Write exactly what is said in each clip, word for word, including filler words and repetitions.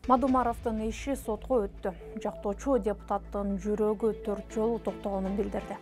Мадумаровдун иши сотко өттү. Жактоочу депутаттын жүрөгү төрт жолу токтогонун билдирди.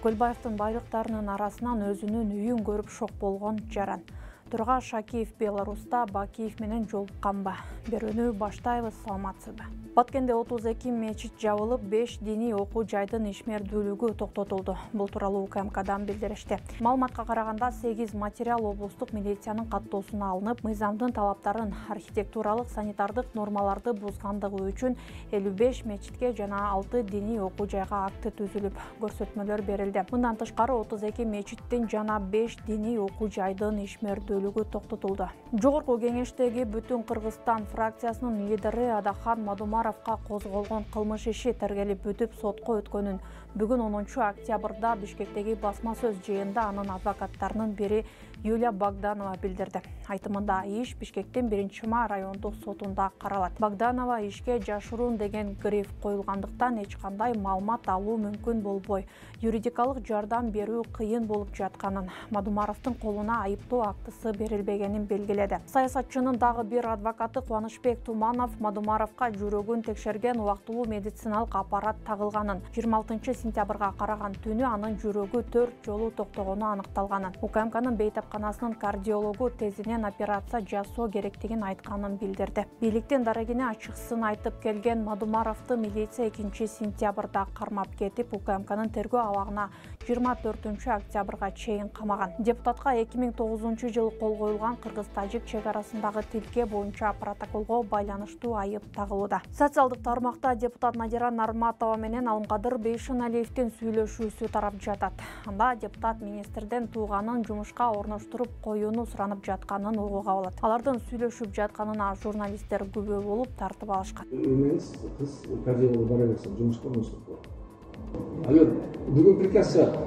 Көлбаевдин байлыктарынын арасынан өзүнүн үйүн көрүп шок болгон жаран. Турга Шакиев Беларуста Бакиев менен жолукканбы? Берүүнү баштайбыз, саламатсызбы? Баткенде отуз эки мечит жабылып, беш диний окуу жайдын ишмердүүлүгү токтотулду. Бул тууралуу У К М Кдан билдиришти. Маалыматка караганда сегиз материал облустук милициянын каттоосуна алынып, мыйзамдын талаптарын, архитектуралык, санитардык нормаларды бузгандыгы үчүн элүү беш мечитке жана алты диний окуу жайга акты түзүлүп, көрсөтмөлөр берилди. Мындан тышкары отуз эки мечиттин жана беш диний окуу жайдын ишмердүүлүгү токтотулду. Жогорку кеңештеги Бүтүн Кыргызстан фракциясынын лидери Адахан Мадумаровго козголгон кылмыш иши тергелип бүтүп сотко өткөнүн бүгүн онунчу октябрда Бишкектеги басма сөз жыйынында анын адвокаттарынын бири Юлия Богданова билдирди. Айтымында иш Бишкектин биринчи май райондук сотунда каралат. Богданова ишке жашыруун деген гриф коюлгандыктан эч кандай маалымат алуу мүмкүн болбой, юридикалык жардам берүү кыйын болуп жатканын, Мадумаровдун колуна айыптоо актысы берилбегенин белгиледи. Саясатчынын дагы бир адвокаты Кубанычбек Туманов Мадумаровго жүрөгүн текшерген убактылуу медициналык аппарат тагылганын, жыйырма алтынчы сентябрга караган түнү анын жүрөгү төрт жолу токтогону аныкталганын, У К М Кнын бейтапканасынын кардиологу тезинен операция жасоо керектигин айтканын билдирди. Бийликтин дарегине ачыкчысын айтып келген Мадумаровду милиция экинчи сентябрда кармап кетип, У К М Кнын тергөө абагына жыйырма төртүнчү октябрга чейин камаган. Депутатка эки миң тогузунчу жылы кол коюлган кыргыз-тажик чек арасындагы тилке боюнча протоколго байланыштуу айып тагылууда. Социалдык тармакта депутат Надира Нарматова менен Алымкадыр Бейшеналиевдин сүйлөшүүсү тарап жатат. Анда депутат министрден тууганын жумушка орноштуруп коюуну суранып жатканын угууга болот. Алардын сүйлөшүп жатканына журналисттер күбө болуп тартып алышкан. Эмес, кыз кардиологго бара берсе, жумушка орноштуруп коет. Алер, бүгүн приказ чыгат.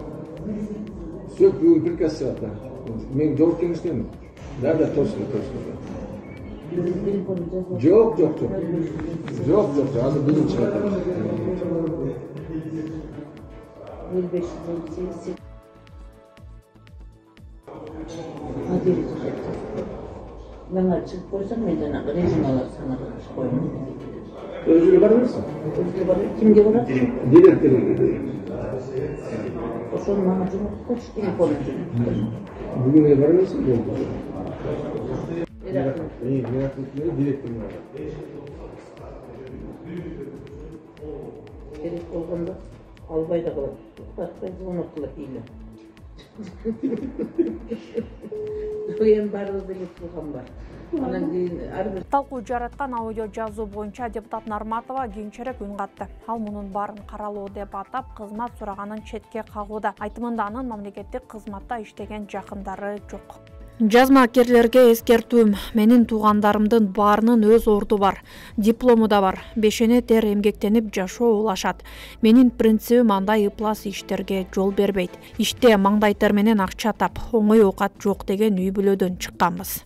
Все, бүгүн приказ чыгат. Мен жооп кеңештемин. Да, да, точно, точно. Жок, жок, жок. Жок, жок, азыр бүгүн чыгат. элүү беш сегиз Мен чыгып койсом, мен жанагы режим алып санага коюм. Өзүгө бара берсин. Өзүгө бара. Кимге барат? Директорго. Ошону мага жумуш коч телефонун. Бүгүн эле бара берсин. Эй, директор директорго. Керек болгондо албай да калат. Тартпай звонок кылат эле. Эми баарыбызда эле турган бар. Анан кийин ар бир талкуу жараткан аудио жазуу боюнча депутат Нарматова кийинчерээк үн катты. Ал мунун баарын каралоо деп атап, кызмат сураганын четке кагууда. Айтымында анын мамлекеттик кызматта иштеген жакындары жок. Жазмакерлерге эскертүүм: менин туугандарымдын баарынын өз орду бар, диплому да бар, бешене тер эмгектенип жашоо улашат. Менин принцибим андай ыплас иштерге жол бербейт. Иште маңдай тер менен акча тап, оңой оокат жок деген үй бүлөдөн чыкканбыз.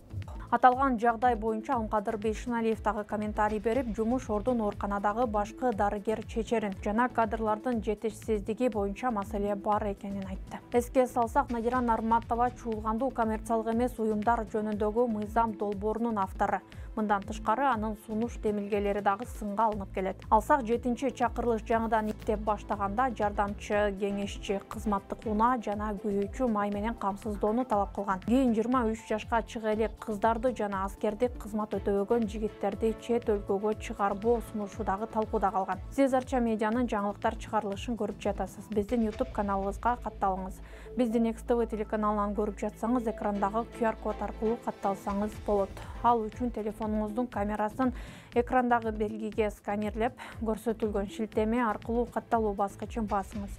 Аталган жагдай боюнча Алымкадыр Бейшеналиев дагы комментарий берип, жумуш ордун ооруканадагы башкы дарыгер чечерин жана кадрлардын жетишсиздиги боюнча маселе бар экенин айтты. Эске салсак, Надира Нарматова чуулгандуу коммерциялык эмес уюмдар жөнүндөгү мыйзам долбоорунун автору. Мындан тышкары анын сунуш демилгелери дагы сынга алынып келет. Алсак, жетинчи чакырылыш жаңыдан иптеп баштаганда жардамчы кеңешчи кызматтык унаа жана күйүүчү май менен камсыздоону талап кылган. Кийин жыйырма үч жашка чыга элек кыздарды жана аскердик кызмат өтөбөгөн жигиттерди чет өлкөгө чыгарбоо сунушу дагы талкууда калган. Сиз Арча медианын жаңылыктар чыгарылышын көрүп жатасыз. Биздин YouTube каналыбызга катталыңыз. Бизди Next T V телеканалынан көрүп жатсаңыз, экрандагы Q R код аркылуу катталсаңыз болот. Ал үчүн телефонуңуздун камерасын экрандагы белгиге сканерлеп, көрсөтүлгөн шилтеме аркылуу катталуу баскычын басыңыз.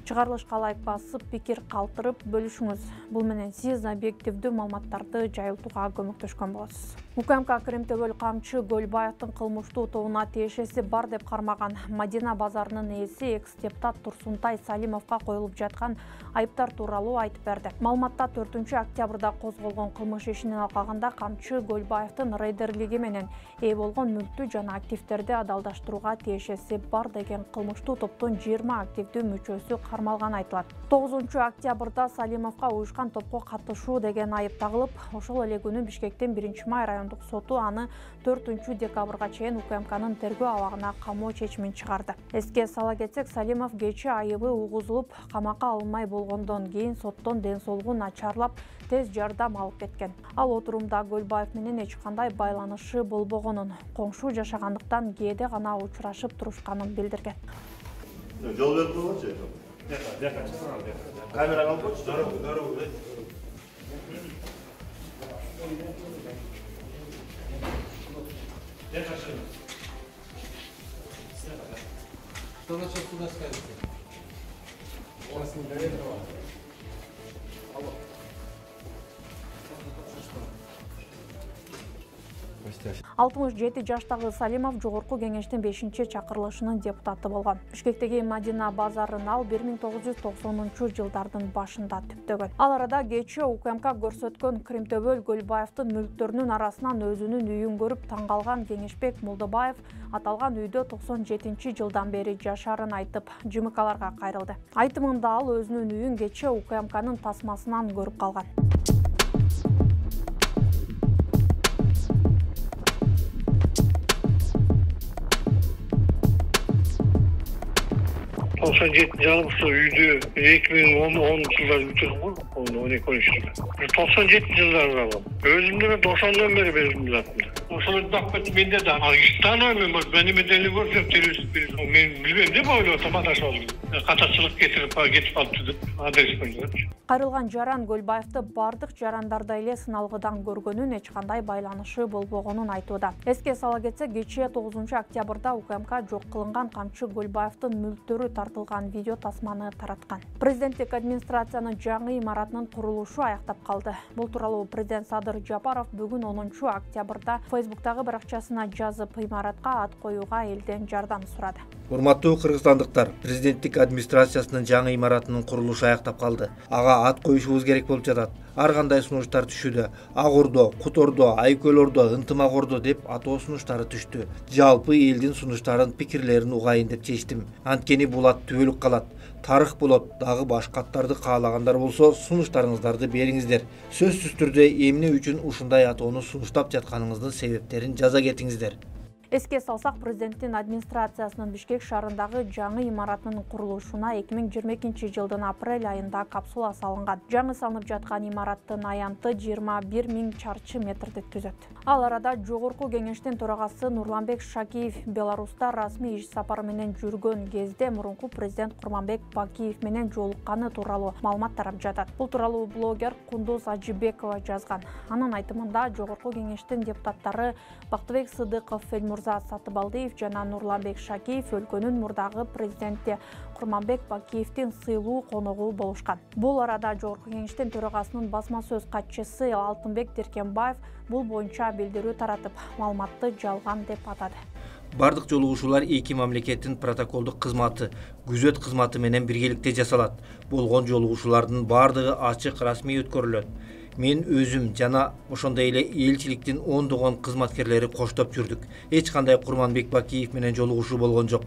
Чыгарылышка лайк басып, пикир калтырып бөлүшүңүз. Бул менен сиз объективдүү маалыматтарды жайылтууга көмөктөшкөн болосуз. У К М К Кыримтөбөл камчы Көлбаевдин кылмыштуу тобуна тиешеси бар деп кармаган Мадина базарынын ээси экс-депутат Турсунтай Салимовго коюлуп жаткан айыптар тууралуу айтып берди. Маалыматта төртүнчү октябрда козголгон кылмыш ишинен алкаганда камчы Көлбаевдин рейдерлиги менен ээ болгон мүлктү жана активдерди адалдаштырууга тиешеси бар деген кылмыштуу топтун жыйырма активдүү мүчөсү кармалганы айтылат. тогузунчу октябрда Салимовго уюшкан топко катышуу деген айып тагылып, ошол эле күнү Бишкектин биринчи май райондук райондук соту аны төртүнчү декабрга чейин УКМКнын тергөө абагына камоо чечимин чыгарды. Эске сала кетсек, Салимов кечээ айыбы угузулуп камакка алынмай болгондон кийин соттон ден соолугу начарлап тез жардам алып кеткен. Ал отурумда Көлбаев менен эч кандай байланышы болбогонун, коңшу жашагандыктан кээде гана учурашып турушканын билдирген. Жол берип койгончу. Камерага алып койчу. Дорогу, дорогу. Что насчет суда скажете? У вас не доверило? Алло. алтымыш жети жаштагы Салимов Жогорку кеңештин бешинчи чакырылышынын депутаты болгон. Бишкектеги Мадина базарын ал бир миң тогуз жүз токсонунчу жылдардын башында түптөгөн. Ал арада кечээ УКМК көрсөткөн Кримтөбөл Көлбаевдин мүлктөрүнүн арасынан өзүнүн үйүн көрүп таң калган Кеңешбек Молдобаев аталган үйдө токсон жетинчи жылдан бери жашаарын айтып, жымыкаларга кайрылды. Айтымында ал өзүнүн үйүн кечээ УКМКнын тасмасынан көрүп калган. токсон жетинчи жылы үйдү эки миң онунчу жылдары бүтүрдүм го, он экинчи жылы. токсон жетинчи жылдары алгам. Өзүмдө мен токсондон бери өзүмдүн атымда. Ошол бакпет менде да тааныбайм, мен эме деле көрсөм террорист. Мен билбейм деп ойлоп атам адашып. Катачылык кетирип кетип калыптыр деп адрес койгончу. Кайрылган жаран Көлбаевди бардык жарандарда эле сыналгыдан көргөнүн, эч кандай байланышы болбогонун айтууда. Эске сала кетсек, кечээ тогузунчу октябрда УКМК жок кылынган камчы Көлбаевдин мүлктөрү тартылган видео тасманы тараткан. Президенттик администрациянын жаңы имаратынын курулушу аяктап калды. Бул тууралуу президент Садыр Жапаров бүгүн онунчу октябрда Фейсбуктагы баракчасына жазып, имаратка ат коюуга элден жардам сурады. Урматтуу кыргызстандыктар, президенттик администрациясынын жаңы имаратынын курулушу аяктап калды. Ага ат коюшубуз керек болуп жатат. Ар кандай сунуштар түшүүдө. Ак Ордо, Кут Ордо, Айкөл Ордо, Ынтымак Ордо деп атоо сунуштары түштү. Жалпы элдин сунуштарын, пикирлерин угайын деп чечтим. Анткени бул ат түбөлүк калат. Тарых болот. Дагы башка аттарды каалагандар болсо, сунуштарыңыздарды бериңиздер. Сөзсүз түрдө эмне үчүн ушундай атоону сунуштап жатканыңыздын себептерин жаза кетиңиздер. Эске салсак, президенттин администрациясынын Бишкек шаарындагы жаңы имаратынын курулушуна эки миң жыйырма экинчи жылдын апрель айында капсула салынган. Жаңы салынып жаткан имараттын аянты жыйырма бир миң чарчы метрди түзөт. Ал арада Жогорку кеңештин төрагасы Нурланбек Шакиев Беларуста расмий иш сапары менен жүргөн кезде мурунку президент Курманбек Бакиев менен жолукканы тууралуу маалымат тарап жатат. Бул тууралуу блогер Кундуз Ажибекова жазган. Анын айтымында Жогорку кеңештин депутаттары Бактыбек Сыдыков, Эльмурза Сатыбалдиев жана Нурланбек Шакиев өлкөнүн мурдагы президенти Курманбек Бакиевдин сыйлуу коногу болушкан. Бул арада Жогорку кеңештин төрагасынын басма сөз катчысы Алтынбек Деркенбаев бул боюнча билдирүү таратып, маалыматты жалган деп атады. Бардык жолугушуулар эки мамлекеттин протоколдук кызматы, күзөт кызматы менен биргеликте жасалат. Болгон жолугушуулардын бардыгы ачык, расмий өткөрүлөт. Мен өзүм жана ошондой эле элчиликтин ондогон кызматкерлери коштоп жүрдүк. Эч кандай Курманбек Бакиев менен жолугушуу болгон жок.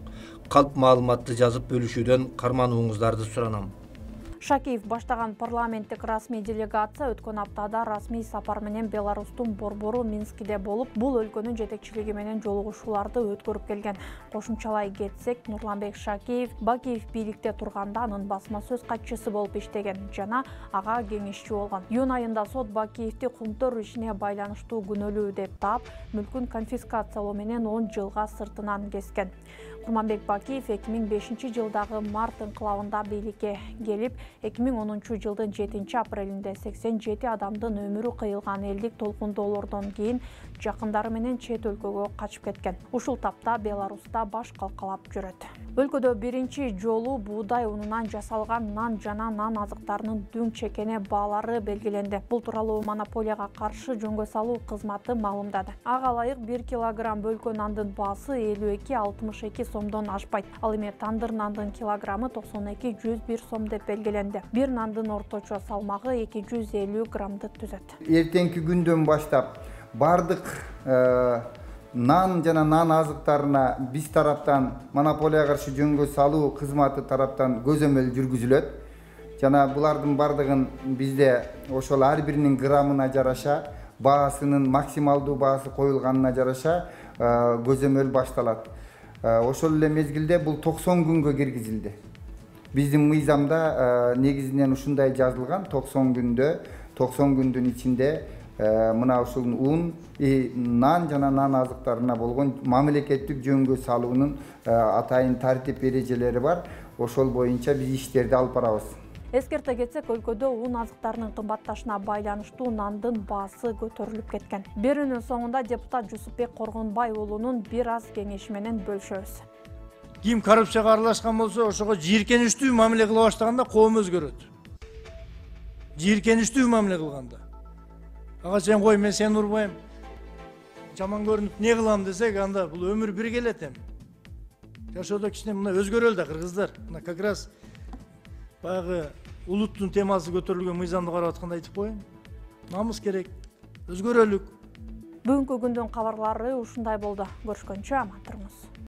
Калп маалыматты жазып бөлүшүүдөн карманууңуздарды суранам. Шакиев баштаган парламенттик расмий делегация өткөн аптада расмий сапар менен Беларустун борбору Минскиде болуп, бул өлкөнүн жетекчилиги менен жолугушууларды өткөрүп келген. Кошумчалай кетсек, Нурланбек Шакиев Бакиев бийликте турганда анын басма сөз катчысы болуп иштеген жана ага кеңешчи болгон. Июнь айында сот Бакиевди кумтөр ишине байланыштуу күнөөлүү деп таап, мүлкүн конфискациялоо менен он жылга сыртынан кескен. Курманбек Бакиев эки миң бешинчи жылдагы март инкылабында бийликке келип, эки миң онунчу жылдын жетинчи апрелинде сексен жети адамдын өмүрү кыйылган элдик толкундоолордон кийин жакындары менен чет өлкөгө качып кеткен. Ушул тапта Беларуста баш калкалап жүрөт. Өлкөдө биринчи жолу буудай унунан жасалган нан жана нан азыктарынын дүң чекене баалары белгиленди. Бул тууралуу монополияга каршы жөнгө салуу кызматы маалымдады. Ага ылайык бир килограмм бөлкө нандын баасы элүү эки алтымыш эки сомдон ашпайт. Ал эми тандыр нандын килограммы токсон эки жүз бир сом деп белгиленди. Бир нандын орточо салмагы эки жүз элүү граммды түзөт. Эртеңки күндөн баштап бардык нан жана нан азыктарына биз тараптан монополияга каршы жөнгө салуу кызматы тараптан көзөмөл жүргүзүлөт. Жана булардын бардыгын бизде ошол ар биринин граммына жараша баасынын максималдуу баасы коюлганына жараша көзөмөл башталат. Ошол эле мезгилде бул токсон күнгө киргизилди. Биздин мыйзамда негизинен ушундай жазылган: токсон күндө, токсон күндүн ичинде мына ушул ун, нан жана нан азыктарына болгон мамлекеттик жөнгө салуунун атайын тартип эрежелери бар. Ошол боюнча биз иштерди алып барабыз. Эскерте кетсек, өлкөдө ун азыктарынын кымбатташына байланыштуу нандын баасы көтөрүлүп кеткен. Берүүнүн соңунда депутат Жусупбек Коргонбай уулунун бир аз кеңеши менен бөлүшөбүз. Ким коррупцияга аралашкан болсо, ошого жийиркеничтүү мамиле кыла баштаганда коом өзгөрөт. Жийиркеничтүү мамиле кылганда. Ага сен кой, мен сени урбайм. Жаман көрүнүп не кылам десек, анда бул өмүр бир келет эми. Жашоодо кичине мына өзгөрөлдү да кыргыздар. Мына как раз баягы улуттун темасы көтөрүлгөн мыйзамды карап атканда айтып коеюн. Намыс керек. Өзгөрөлүк. Бүгүнкү күндүн кабарлары ушундай болду. Көрүшкөнчө аман туруңуз.